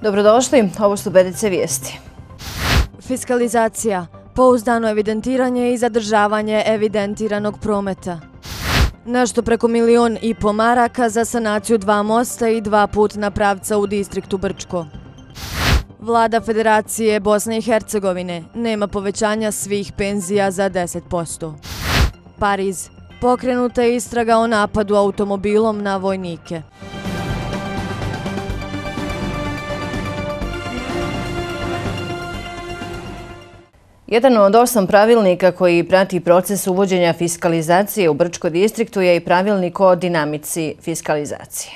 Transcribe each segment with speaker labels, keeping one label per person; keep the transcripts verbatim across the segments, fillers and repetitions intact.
Speaker 1: Dobrodošli, ovo su Bedice vijesti.
Speaker 2: Fiskalizacija, pouzdano evidentiranje i zadržavanje evidentiranog prometa. Nešto preko milion i po maraka za sanaciju dva mosta i dva putna pravca u distriktu Brčko. Vlada Federacije Bosne i Hercegovine nema povećanja svih penzija za deset posto. Pariz, pokrenuta je istraga o napadu automobilom na vojnike.
Speaker 1: Jedan od osam pravilnika koji prati proces uvođenja fiskalizacije u Brčko distriktu je i pravilnik o dinamici fiskalizacije.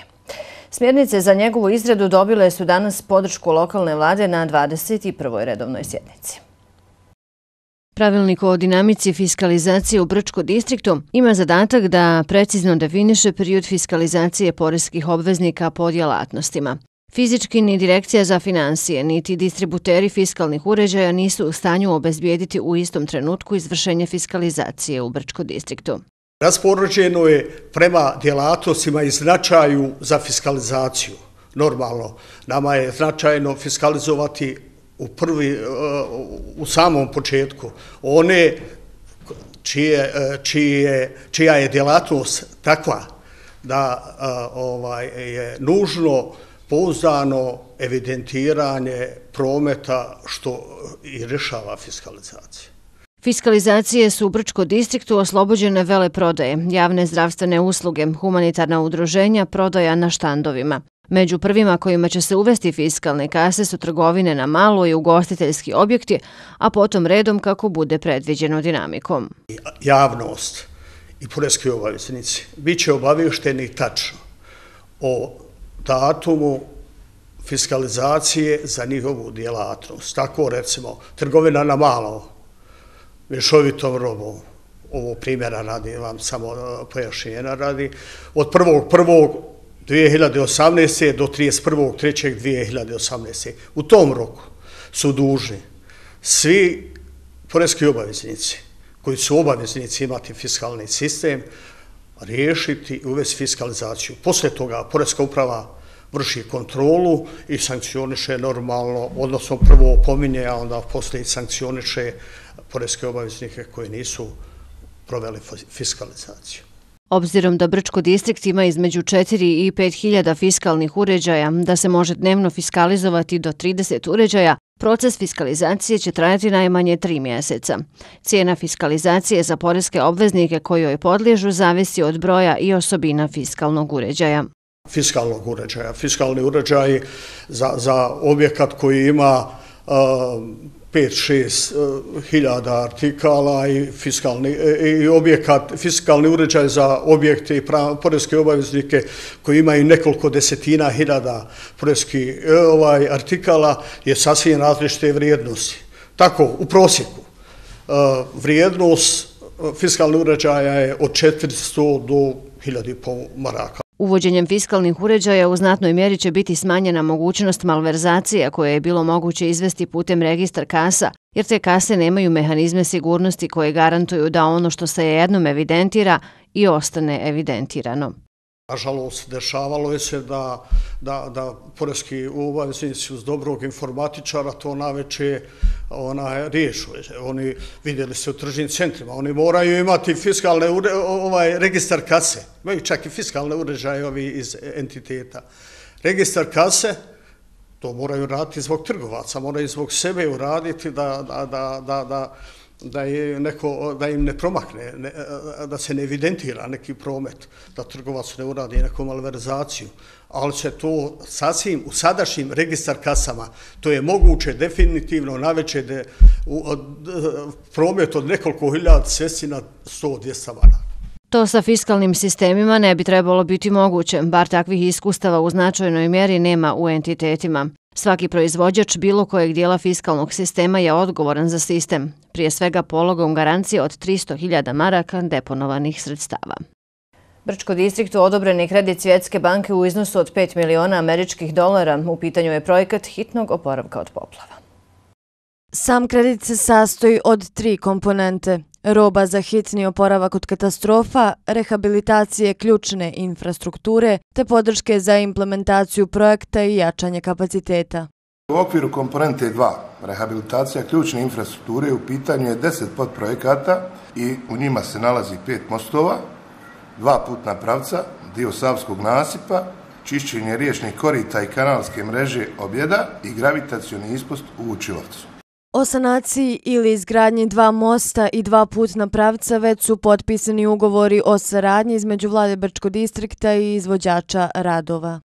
Speaker 1: Smjernice za njegovu izradu dobile su danas podršku lokalne vlade na dvadeset prvoj redovnoj sjednici.
Speaker 3: Pravilnik o dinamici fiskalizacije u Brčko distriktu ima zadatak da precizno definiše period fiskalizacije poreskih obveznika po djelatnostima. Fizički ni Direkcija za finansije, niti distributeri fiskalnih uređaja nisu u stanju obezbijediti u istom trenutku izvršenje fiskalizacije u Brčko distriktu.
Speaker 4: Raspoređeno je prema djelatnostima i značaju za fiskalizaciju. Normalno, nama je značajno fiskalizovati u, prvi, u samom početku one čije, čije, čija je djelatnost takva da ovaj, je nužno pouzdano evidentiranje prometa što i rješava fiskalizacija.
Speaker 3: Fiskalizacije su u Brčko distriktu oslobođene veleprodaje, javne zdravstvene usluge, humanitarna udruženja, prodaja na štandovima. Među prvima kojima će se uvesti fiskalne kase su trgovine na malo i ugostiteljski objekti, a potom redom kako bude predviđeno dinamikom.
Speaker 4: Javnost i poreski obaveznici bit će obavješteni tačno o datumu fiskalizacije za njihovu djelatnost. Tako recimo, trgovina na malo, mješovitom robom, ovo primjera radi, vam samo pojašnjenja radi, od prvog prvog dvije hiljade osamnaeste. do trideset prvog trećeg dvije hiljade osamnaeste. U tom roku su dužni svi poreski obaveznici koji su obaveznici imati fiskalni sistem riješiti i uvesti fiskalizaciju. Poslije toga poreska uprava vrši kontrolu i sankcioniše normalno, odnosno prvo opominje, a onda poslije sankcioniše poreske obaveznike koji nisu proveli fiskalizaciju.
Speaker 3: Obzirom da Brčko distrikt ima između četiri i pet hiljada fiskalnih uređaja, da se može dnevno fiskalizovati do trideset uređaja, proces fiskalizacije će trajati najmanje tri mjeseca. Cijena fiskalizacije za poreske obveznike kojoj podliježu zavisi od broja i osobina fiskalnog uređaja.
Speaker 4: Fiskalnog uređaja. Fiskalni uređaj za, za objekat koji ima uh, pet šest hiljada artikala i, fiskalni, i objekat, fiskalni uređaj za objekte i poreske obaveznike koji imaju nekoliko desetina hiljada poreskih ovaj, artikala je sasvim različite vrijednosti. Tako, u prosjeku, uh, vrijednost fiskalnog uređaja je od četiristo do hiljadu i pol maraka.
Speaker 3: Uvođenjem fiskalnih uređaja u znatnoj mjeri će biti smanjena mogućnost malverzacija koje je bilo moguće izvesti putem registra kasa, jer te kase nemaju mehanizme sigurnosti koje garantuju da ono što se jednom evidentira i ostane evidentirano.
Speaker 4: Nažalost, dešavalo je se da, da, da poreski obaveznici uz dobrog informatičara to naveče ona riješu. Oni vidjeli se u tržnim centrima, oni moraju imati fiskalne ure, ovaj registar kase, imaju čak i fiskalne uređaje ovi iz entiteta. Registar kase, to moraju raditi zbog trgovaca, moraju zbog sebe uraditi da, da, da, da, da Da, je neko, da im ne promakne, ne, da se ne evidentira neki promet, da trgovac ne uradi neku malverzaciju, ali se to sasvim u sadašnjim registar kasama, to je moguće definitivno naveće da promet od nekoliko hiljada svesti na sto do dvjesto maraka.
Speaker 3: To sa fiskalnim sistemima ne bi trebalo biti moguće, bar takvih iskustava u značajnoj mjeri nema u entitetima. Svaki proizvođač bilo kojeg dijela fiskalnog sistema je odgovoran za sistem, prije svega pologom garancije od tristo hiljada maraka deponovanih sredstava.
Speaker 1: Brčko distriktu odobren je kredit Svjetske banke u iznosu od pet miliona američkih dolara. U pitanju je projekat hitnog oporavka od poplava.
Speaker 2: Sam kredit se sastoji od tri komponente. Roba za hitni oporavak od katastrofa, rehabilitacije ključne infrastrukture te podrške za implementaciju projekta i jačanje kapaciteta.
Speaker 5: U okviru komponente dva, rehabilitacija ključne infrastrukture, u pitanju je deset podprojekata i u njima se nalazi pet mostova, dva putna pravca, dio Savskog nasipa, čišćenje riječnih korita i kanalske mreže Objeda i gravitacioni ispust u Vučilovcu.
Speaker 2: O sanaciji ili izgradnji dva mosta i dva putna pravca već su potpisani ugovori o saradnji između vlade Brčkog distrikta i izvođača radova.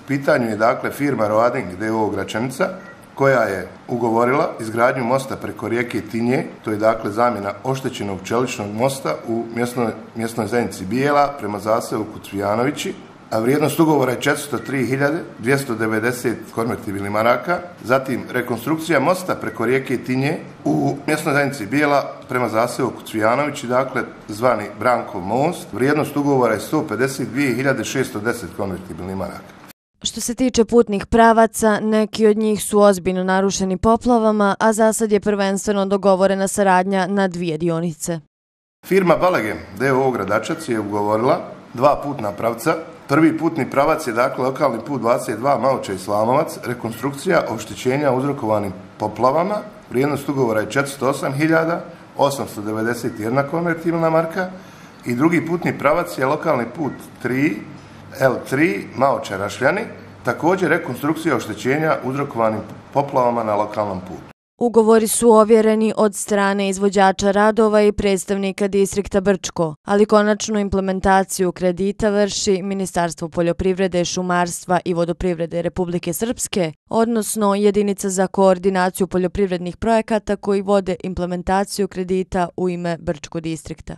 Speaker 5: U pitanju je dakle firma Roading d o o Gračanica koja je ugovorila izgradnju mosta preko rijeke Tinje, to je dakle zamjena oštećenog čeličnog mosta u mjesnoj, mjesnoj zajednici Bijela prema zaseoku Cvijanovići, a vrijednost ugovora je četiristo tri hiljade dvjesto devedeset konvertibilnih maraka. Zatim rekonstrukcija mosta preko rijeke Tinje u mjesnoj zajednici Bijela prema zaseoku Cvijanovići, dakle zvani Brankov most. Vrijednost ugovora je sto pedeset dvije hiljade šesto deset konvertibilnih maraka.
Speaker 2: Što se tiče putnih pravaca, neki od njih su ozbiljno narušeni poplavama, a za sad je prvenstveno dogovorena saradnja na dvije dionice.
Speaker 5: Firma Balegem d o o Gradačac je ugovorila dva putna pravca. Prvi putni pravac je dakle lokalni put dvadeset dva Maoča i Slamovac, rekonstrukcija oštećenja uzrokovanim poplavama. Vrijednost ugovora je četiristo osam hiljada osamsto devedeset jedna konvertibilna marka i drugi putni pravac je lokalni put tri L tri Maoča Rašljani, također rekonstrukcija oštećenja uzrokovanim poplavama na lokalnom putu.
Speaker 2: Ugovori su ovjereni od strane izvođača radova i predstavnika distrikta Brčko, ali konačnu implementaciju kredita vrši Ministarstvo poljoprivrede, šumarstva i vodoprivrede Republike Srpske, odnosno Jedinica za koordinaciju poljoprivrednih projekata koji vode implementaciju kredita u ime Brčkog distrikta.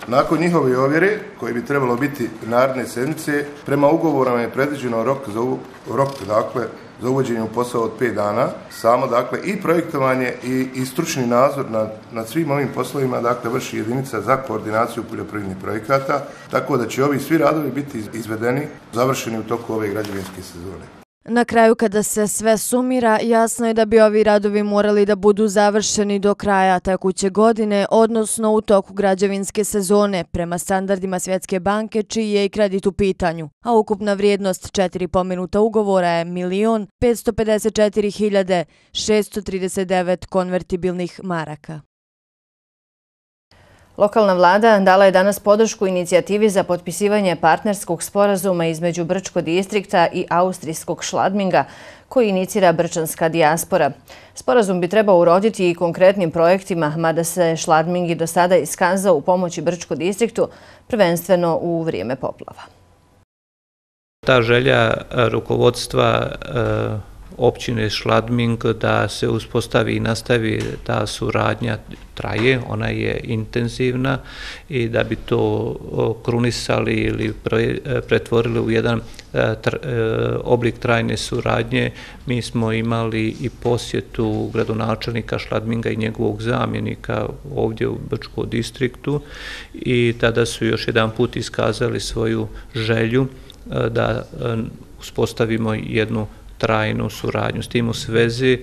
Speaker 5: Nakon njihove ovjere, koji bi trebalo biti naredne sedmice, prema ugovorama je predviđeno rok za, u, rok, dakle, za uvođenje u posao od pet dana. Samo dakle, i projektovanje i, i stručni nadzor nad, nad svim ovim poslovima dakle, vrši Jedinica za koordinaciju poljoprivrednih projekata, tako da će ovi svi radovi biti izvedeni, završeni u toku ove građevinske sezone.
Speaker 2: Na kraju, kada se sve sumira, jasno je da bi ovi radovi morali da budu završeni do kraja tekuće godine, odnosno u toku građevinske sezone, prema standardima Svjetske banke, čiji je i kredit u pitanju, a ukupna vrijednost četiri pomenuta ugovora je milion petsto pedeset četiri hiljade šesto trideset devet konvertibilnih maraka.
Speaker 1: Lokalna vlada dala je danas podršku inicijativi za potpisivanje partnerskog sporazuma između Brčkog distrikta i austrijskog Schladminga, koji inicira brčanska dijaspora. Sporazum bi trebao uroditi i konkretnim projektima, mada se Schladming i do sada iskazao u pomoći Brčkom distriktu, prvenstveno u vrijeme poplava.
Speaker 6: Ta želja rukovodstva općine Schladming da se uspostavi i nastavi ta suradnja traje, ona je intenzivna i da bi to krunisali ili pretvorili u jedan oblik trajne suradnje, mi smo imali i posjetu gradonačelnika Schladminga i njegovog zamjenika ovdje u Brčkom distriktu i tada su još jedan put iskazali svoju želju da uspostavimo jednu trajnu suradnju. S tim u svezi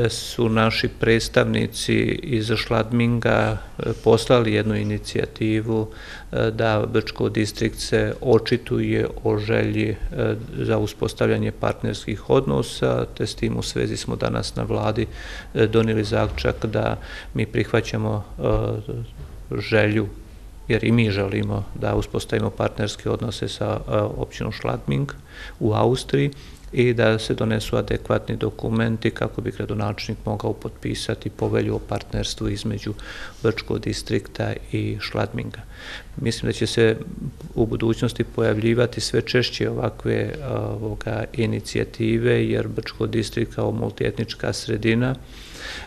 Speaker 6: su naši predstavnici iz Schladminga poslali jednu inicijativu da Brčko distrikt se očituje o želji za uspostavljanje partnerskih odnosa, te s tim u svezi smo danas na vladi donijeli zaključak da mi prihvaćamo želju, jer i mi želimo da uspostavimo partnerske odnose sa općinom Schladming u Austriji i da se donesu adekvatni dokumenti kako bi gradonačelnik mogao potpisati povelju o partnerstvu između Brčkog distrikta i Schladminga. Mislim da će se u budućnosti pojavljivati sve češće ovakve ovoga, inicijative, jer Brčko distrikt kao multietnička sredina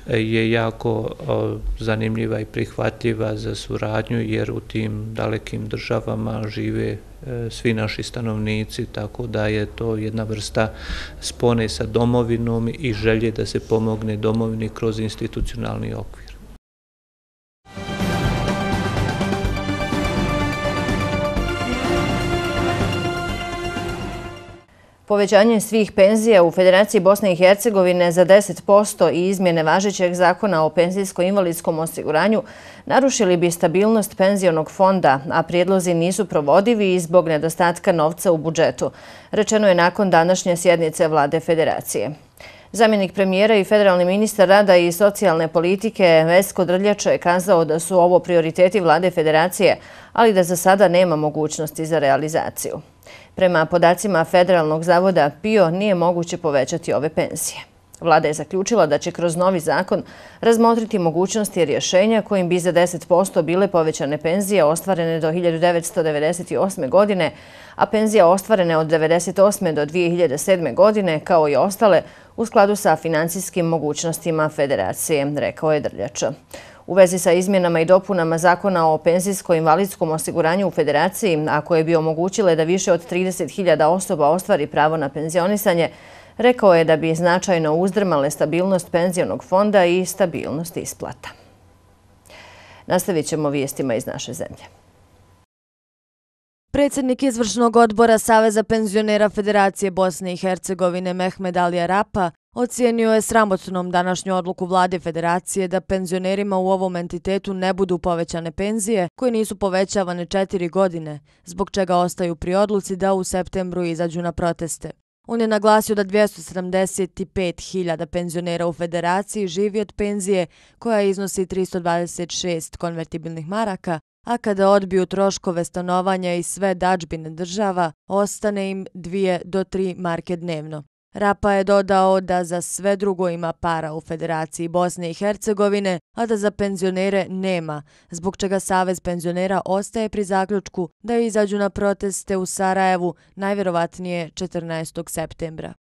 Speaker 6: je jako zanimljiva i prihvatljiva za suradnju, jer u tim dalekim državama žive svi naši stanovnici, tako da je to jedna vrsta spone sa domovinom i želje da se pomogne domovini kroz institucionalni okvir.
Speaker 1: Povećanje svih penzija u Federaciji Bosne i Hercegovine za deset posto i izmjene važećeg zakona o penzijsko-invalidskom osiguranju narušili bi stabilnost penzionog fonda, a prijedlozi nisu provodivi i zbog nedostatka novca u budžetu, rečeno je nakon današnje sjednice vlade Federacije. Zamjenik premijera i federalni ministar rada i socijalne politike Vesko Drljača je kazao da su ovo prioriteti vlade federacije, ali da za sada nema mogućnosti za realizaciju. Prema podacima Federalnog zavoda P I O nije moguće povećati ove penzije. Vlada je zaključila da će kroz novi zakon razmotriti mogućnosti rješenja kojim bi za deset posto bile povećane penzije ostvarene do hiljadu devetsto devedeset osme. godine, a penzija ostvarene od devedeset osme. do dvije hiljade sedme. godine, kao i ostale, u skladu sa financijskim mogućnostima federacije, rekao je Drljača. U vezi sa izmjenama i dopunama zakona o penzijsko-invalidskom osiguranju u federaciji, a koje bi omogućile da više od trideset hiljada osoba ostvari pravo na penzionisanje, rekao je da bi značajno uzdrmale stabilnost penzionog fonda i stabilnost isplata. Nastavit ćemo vijestima iz naše zemlje.
Speaker 2: Predsjednik izvršnog odbora Saveza penzionera Federacije Bosne i Hercegovine Mehmed Alija Rapa ocijenio je sramotnom današnju odluku vlade Federacije da penzionerima u ovom entitetu ne budu povećane penzije koje nisu povećavane četiri godine, zbog čega ostaju pri odluci da u septembru izađu na proteste. On je naglasio da dvjesto sedamdeset pet hiljada penzionera u Federaciji živi od penzije koja iznosi tristo dvadeset šest konvertibilnih maraka, a kada odbiju troškove stanovanja i sve dadžbine država, ostane im dvije do tri marke dnevno. Rapa je dodao da za sve drugo ima para u Federaciji Bosne i Hercegovine, a da za penzionere nema, zbog čega Savez penzionera ostaje pri zaključku da izađu na proteste u Sarajevu najvjerovatnije četrnaestog septembra.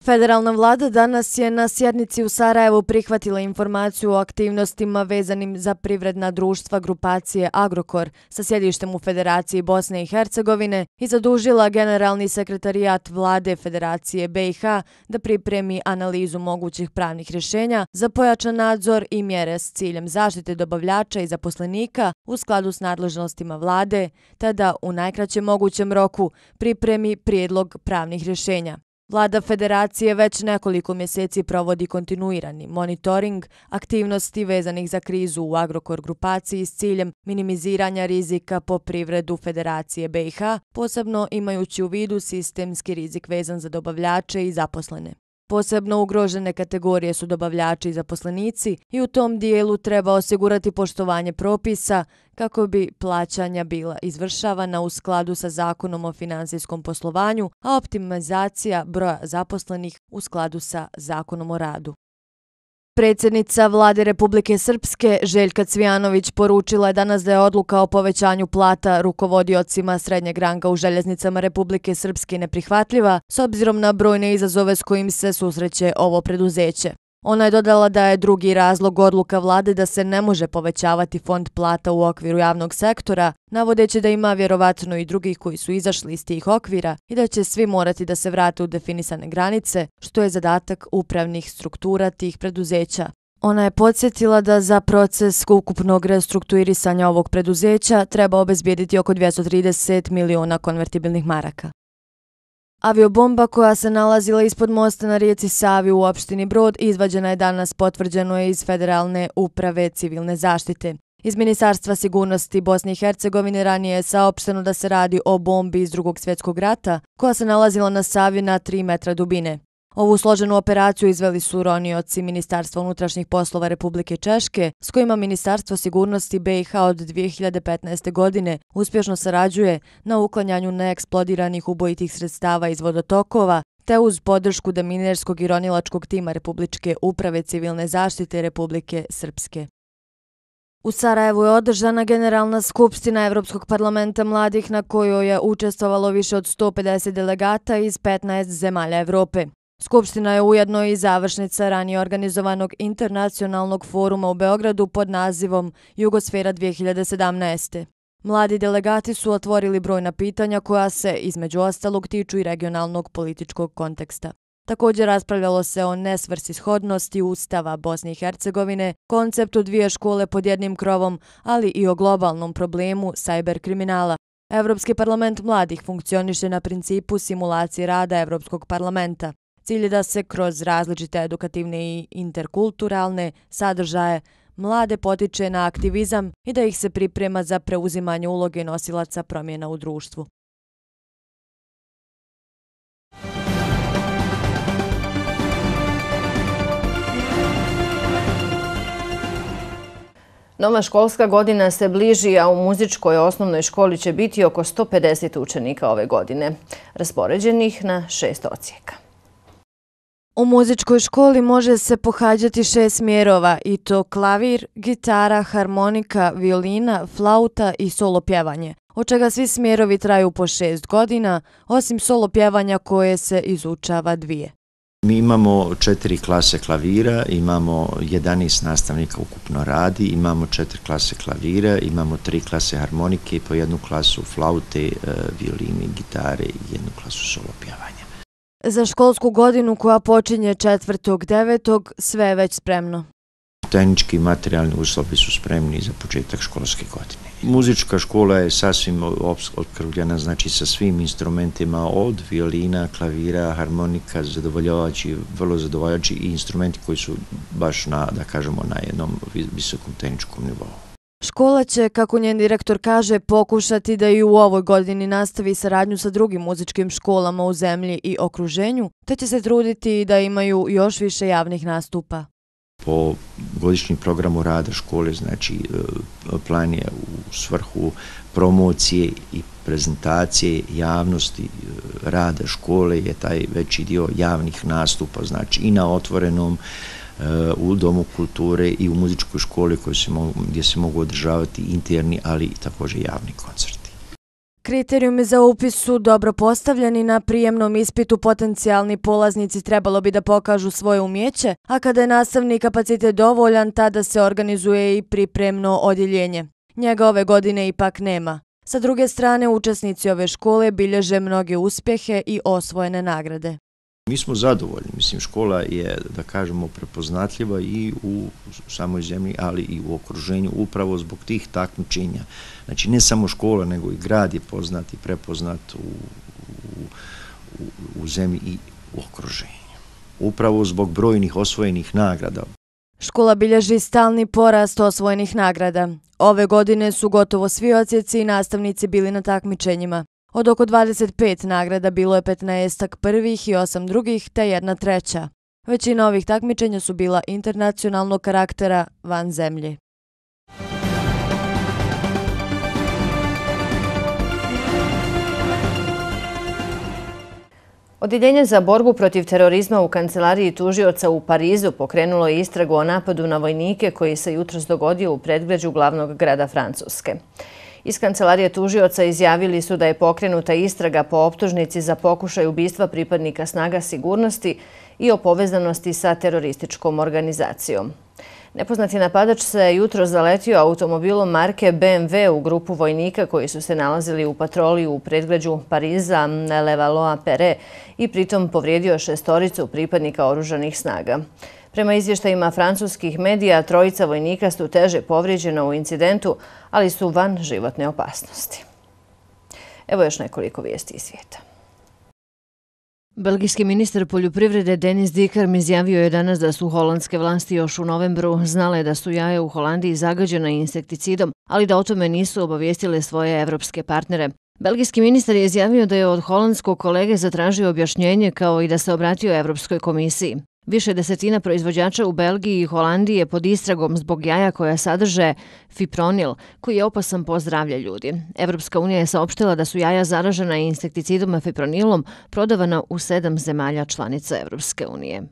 Speaker 2: Federalna vlada danas je na sjednici u Sarajevu prihvatila informaciju o aktivnostima vezanim za privredna društva grupacije Agrokor sa sjedištem u Federaciji Bosne i Hercegovine i zadužila generalni sekretarijat vlade Federacije B i H da pripremi analizu mogućih pravnih rješenja za pojačan nadzor i mjere s ciljem zaštite dobavljača i zaposlenika u skladu s nadležnostima vlade, te da u najkraćem mogućem roku pripremi prijedlog pravnih rješenja. Vlada Federacije već nekoliko mjeseci provodi kontinuirani monitoring aktivnosti vezanih za krizu u Agrokor grupaciji s ciljem minimiziranja rizika po privredu Federacije B i H, posebno imajući u vidu sistemski rizik vezan za dobavljače i zaposlene. Posebno ugrožene kategorije su dobavljači i zaposlenici i u tom dijelu treba osigurati poštovanje propisa kako bi plaćanja bila izvršavana u skladu sa Zakonom o finansijskom poslovanju, a optimizacija broja zaposlenih u skladu sa Zakonom o radu. Predsjednica vlade Republike Srpske Željka Cvijanović poručila je danas da je odluka o povećanju plata rukovodiocima srednjeg ranga u željeznicama Republike Srpske neprihvatljiva s obzirom na brojne izazove s kojim se susreće ovo preduzeće. Ona je dodala da je drugi razlog odluka vlade da se ne može povećavati fond plata u okviru javnog sektora, navodeći da ima vjerovatno i drugih koji su izašli iz tih okvira i da će svi morati da se vrate u definisane granice, što je zadatak upravnih struktura tih preduzeća. Ona je podsjetila da za proces ukupnog restrukturisanja ovog preduzeća treba obezbijediti oko dvjesto trideset miliona konvertibilnih maraka. Aviobomba koja se nalazila ispod mosta na rijeci Savi u opštini Brod izvađena je danas, potvrđeno je iz Federalne uprave civilne zaštite. Iz Ministarstva sigurnosti Bosne i Hercegovine ranije je saopšteno da se radi o bombi iz Drugog svjetskog rata koja se nalazila na Savi na tri metra dubine. Ovu složenu operaciju izveli su ronioci Ministarstva unutrašnjih poslova Republike Češke, s kojima Ministarstvo sigurnosti B i H od dvije hiljade petnaeste. godine uspješno sarađuje na uklanjanju neeksplodiranih ubojitih sredstava iz vodotokova, te uz podršku deminerskog i ronilačkog tima Republičke uprave civilne zaštite Republike Srpske. U Sarajevu je održana Generalna skupština Evropskog parlamenta mladih na kojoj je učestvovalo više od sto pedeset delegata iz petnaest zemalja Evrope. Skupština je ujedno i završnica ranije organizovanog internacionalnog foruma u Beogradu pod nazivom Jugosfera dvije hiljade sedamnaeste. Mladi delegati su otvorili brojna pitanja koja se, između ostalog, tiču i regionalnog političkog konteksta. Također raspravljalo se o nesvrsishodnosti Ustava Bosne i Hercegovine, konceptu dvije škole pod jednim krovom, ali i o globalnom problemu sajber kriminala. Evropski parlament mladih funkcioniše na principu simulacije rada Evropskog parlamenta. Cilj je da se kroz različite edukativne i interkulturalne sadržaje mlade potiče na aktivizam i da ih se priprema za preuzimanje uloge nosilaca promjena u društvu.
Speaker 1: Nova školska godina se bliži, a u muzičkoj osnovnoj školi će biti oko sto pedeset učenika ove godine, raspoređenih na šest odsjeka.
Speaker 2: U muzičkoj školi može se pohađati šest smjerova, i to klavir, gitara, harmonika, violina, flauta i solo pjevanje, od čega svi smjerovi traju po šest godina, osim solo pjevanja koje se izučava dvije.
Speaker 7: Mi imamo četiri klase klavira, imamo jedanaest nastavnika ukupno radi, imamo četiri klase klavira, imamo tri klase harmonike i po jednu klasu flaute, violine, gitare i jednu klasu solo pjevanja.
Speaker 2: Za školsku godinu koja počinje četvrtog devetog sve je već spremno.
Speaker 7: Tehnički i materijalni uslovi su spremni za početak školske godine. Muzička škola je sasvim opskrbljena, znači sa svim instrumentima od violina, klavira, harmonika, zadovoljavajući, vrlo zadovoljavajući i instrumenti koji su baš na, da kažemo, na jednom visokom tehničkom nivou.
Speaker 2: Škola će, kako njen direktor kaže, pokušati da i u ovoj godini nastavi saradnju sa drugim muzičkim školama u zemlji i okruženju, te će se truditi da imaju još više javnih nastupa.
Speaker 7: Po godišnjem programu rada škole, znači plan je u svrhu promocije i prezentacije javnosti rada škole je taj veći dio javnih nastupa, znači i na otvorenom, u Domu kulture i u muzičkoj školi gdje se mogu održavati interni, ali i također javni koncerti.
Speaker 2: Kriterijumi za upis su dobro postavljeni. Na prijemnom ispitu potencijalni polaznici trebalo bi da pokažu svoje umjeće, a kada je nastavni kapacitet dovoljan, tada se organizuje i pripremno odjeljenje. Njega ove godine ipak nema. Sa druge strane, učesnici ove škole bilježe mnoge uspjehe i osvojene nagrade.
Speaker 7: Mi smo zadovoljni, mislim, škola je, da kažemo, prepoznatljiva i u samoj zemlji, ali i u okruženju, upravo zbog tih takmičenja. Znači, ne samo škola, nego i grad je poznat i prepoznat u, u, u zemlji i u okruženju. Upravo zbog brojnih osvojenih nagrada.
Speaker 2: Škola bilježi stalni porast osvojenih nagrada. Ove godine su gotovo svi odsjeci i nastavnici bili na takmičenjima. Od oko dvadeset pet nagrada bilo je petnaestak prvih i osam drugih, te jedna treća. Većina ovih takmičenja su bila internacionalnog karaktera van zemlje.
Speaker 1: Odjeljenje za borbu protiv terorizma u kancelariji tužioca u Parizu pokrenulo je istragu o napadu na vojnike koji se jutros dogodio u predgrađu glavnog grada Francuske. Iz kancelarije tužioca izjavili su da je pokrenuta istraga po optužnici za pokušaj ubistva pripadnika snaga sigurnosti i o povezanosti sa terorističkom organizacijom. Nepoznati napadač se jutro zaletio automobilom marke B M W u grupu vojnika koji su se nalazili u patroli u predgrađu Pariza Levallois-Perret i pritom povrijedio šestoricu pripadnika oružanih snaga. Prema izvještajima francuskih medija, trojica vojnika su teže povrijeđena u incidentu, ali su van životne opasnosti. Evo još nekoliko vijesti iz svijeta.
Speaker 3: Belgijski ministar poljoprivrede Denis Dikar izjavio je danas da su holandske vlasti još u novembru znale da su jaja u Holandiji zagađena insekticidom, ali da o tome nisu obavijestile svoje evropske partnere. Belgijski ministar je izjavio da je od holandskog kolege zatražio objašnjenje kao i da se obratio Evropskoj komisiji. Više desetina proizvođača u Belgiji i Holandiji je pod istragom zbog jaja koja sadrže fipronil, koji je opasan po zdravlje ljudi. Evropska unija je saopštila da su jaja zaražena insekticidom fipronilom prodavana u sedam zemalja članica Evropske unije.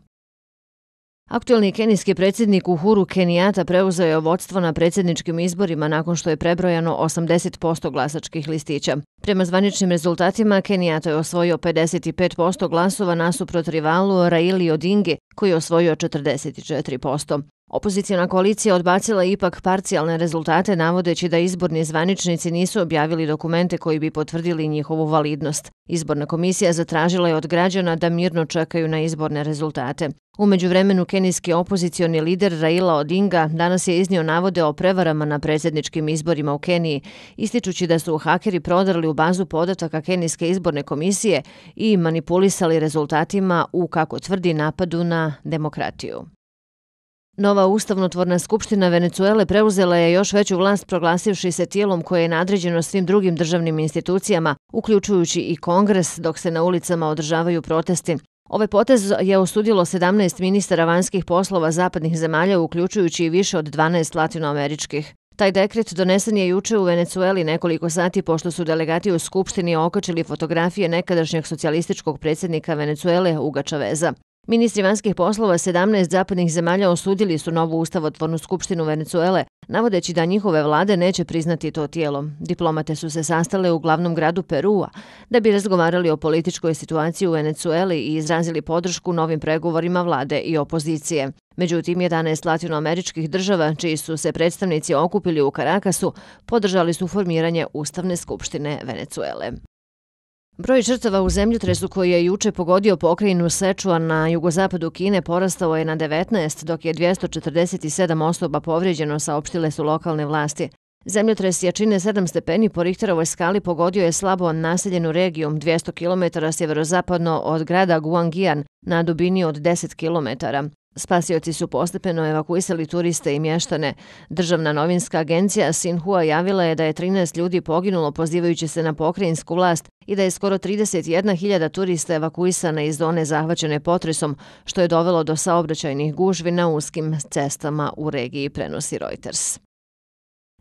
Speaker 3: Aktuelni kenijski predsjednik Uhuru Kenijata preuzeo je vodstvo na predsjedničkim izborima nakon što je prebrojano osamdeset posto glasačkih listića. Prema zvaničnim rezultatima, Kenijata je osvojio pedeset pet posto glasova nasuprot rivalu Raili Odingi, koji je osvojio četrdeset četiri posto. Opozicijona koalicija odbacila ipak parcijalne rezultate navodeći da izborni zvaničnici nisu objavili dokumente koji bi potvrdili njihovu validnost. Izborna komisija zatražila je od građana da mirno čekaju na izborne rezultate. U međuvremenu kenijski opozicioni lider Raila Odinga danas je iznio navode o prevarama na predsjedničkim izborima u Keniji, ističući da su hakeri prodrli u bazu podataka kenijske izborne komisije i manipulisali rezultatima u, kako tvrdi, napadu na demokratiju. Nova ustavnotvorna skupština Venecuele preuzela je još veću vlast proglasivši se tijelom koje je nadređeno svim drugim državnim institucijama, uključujući i Kongres, dok se na ulicama održavaju protesti. Ovaj potez je osudilo sedamnaest ministara vanjskih poslova zapadnih zemalja, uključujući i više od dvanaest latinoameričkih. Taj dekret donesen je juče u Venecueli nekoliko sati pošto su delegati u Skupštini okačili fotografije nekadašnjeg socijalističkog predsjednika Venecuele Huga Chaveza. Ministri vanjskih poslova sedamnaest zapadnih zemalja osudili su novu ustavotvornu skupštinu Venecuele, navodeći da njihove vlade neće priznati to tijelo. Diplomate su se sastale u glavnom gradu Perua da bi razgovarali o političkoj situaciji u Venecueli i izrazili podršku novim pregovorima vlade i opozicije. Međutim, jedanaest latinoameričkih država, čiji su se predstavnici okupili u Karakasu, podržali su formiranje Ustavne skupštine Venecuele. Broj žrtava u zemljotresu koji je juče pogodio pokrajinu Sečuan na jugozapadu Kine porastao je na devetnaest, dok je dvjesto četrdeset sedam osoba povrijeđeno, saopštile su lokalne vlasti. Zemljotres jačine sedam stepeni po Richterovoj skali pogodio je slabo naseljenu regiju dvjesto kilometara sjeverozapadno od grada Guangyan na dubini od deset kilometara. Spasioci su postepeno evakuisali turiste i mještane. Državna novinska agencija Xinhua javila je da je trinaest ljudi poginulo pozivajući se na pokrajinsku vlast i da je skoro trideset jedna hiljada turista evakuisana iz zone zahvaćene potresom, što je dovelo do saobraćajnih gužvi na uskim cestama u regiji, prenosi Reuters.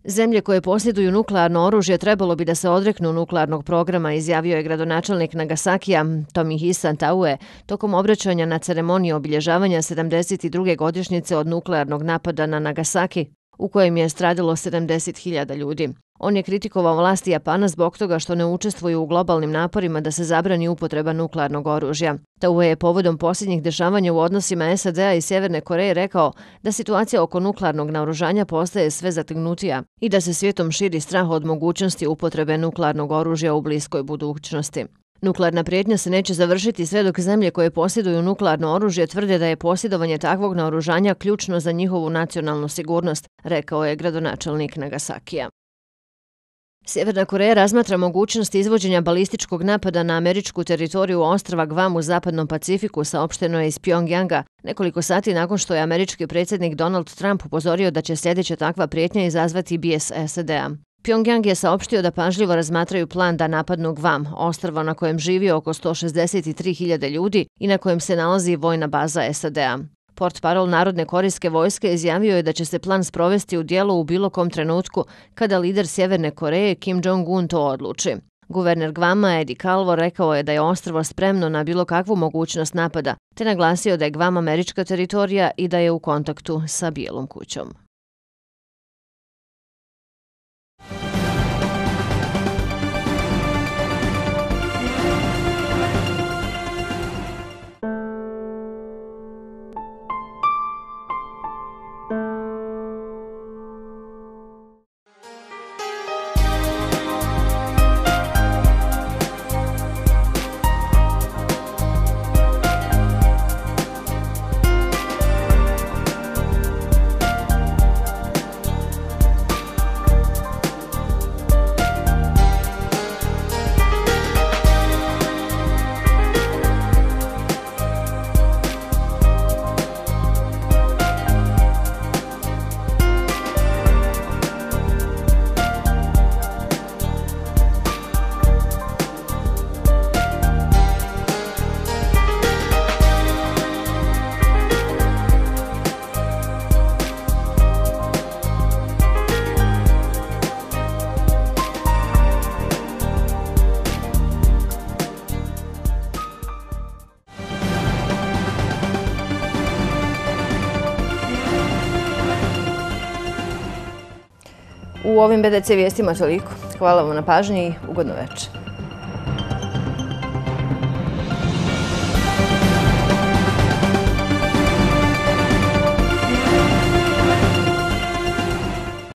Speaker 3: Zemlje koje posjeduju nuklearno oružje trebalo bi da se odreknu nuklearnog programa, izjavio je gradonačelnik Nagasakija Tomohisa Taue tokom obraćanja na ceremoniji obilježavanja sedamdeset druge godišnjice od nuklearnog napada na Nagasaki, u kojem je stradalo sedamdeset hiljada ljudi. On je kritikovao vlasti Japana zbog toga što ne učestvuju u globalnim naporima da se zabrani upotreba nuklearnog oružja. Taue je povodom posljednjih dešavanja u odnosima S A D-a i Sjeverne Koreje rekao da situacija oko nuklearnog naoružanja postaje sve zategnutija i da se svijetom širi strah od mogućnosti upotrebe nuklearnog oružja u bliskoj budućnosti. Nuklearna prijetnja se neće završiti sve dok zemlje koje posjeduju nuklearno oružje tvrde da je posjedovanje takvog naoružanja ključno za njihovu nacionalnu sigurnost, rekao je gradonačelnik Nagasakija. Sjeverna Koreja razmatra mogućnost izvođenja balističkog napada na američku teritoriju ostrva Guam u zapadnom Pacifiku, saopšteno je iz Pjongjanga, nekoliko sati nakon što je američki predsjednik Donald Trump upozorio da će sljedeća takva prijetnja izazvati bijes S A D-a. Pjongjang je saopštio da pažljivo razmatraju plan da napadnu Guam, ostrvo na kojem živi oko sto šezdeset tri hiljade ljudi i na kojem se nalazi vojna baza S A D-a. Portparol Narodne korejske vojske izjavio je da će se plan sprovesti u djelo u bilo kom trenutku kada lider Sjeverne Koreje Kim Jong-un to odluči. Guverner Guama Eddie Calvo rekao je da je ostrvo spremno na bilo kakvu mogućnost napada, te naglasio da je Guam američka teritorija i da je u kontaktu sa Bijelom kućom.
Speaker 1: U ovim B D C vijestima toliko. Hvala vam na pažnji i ugodno večer.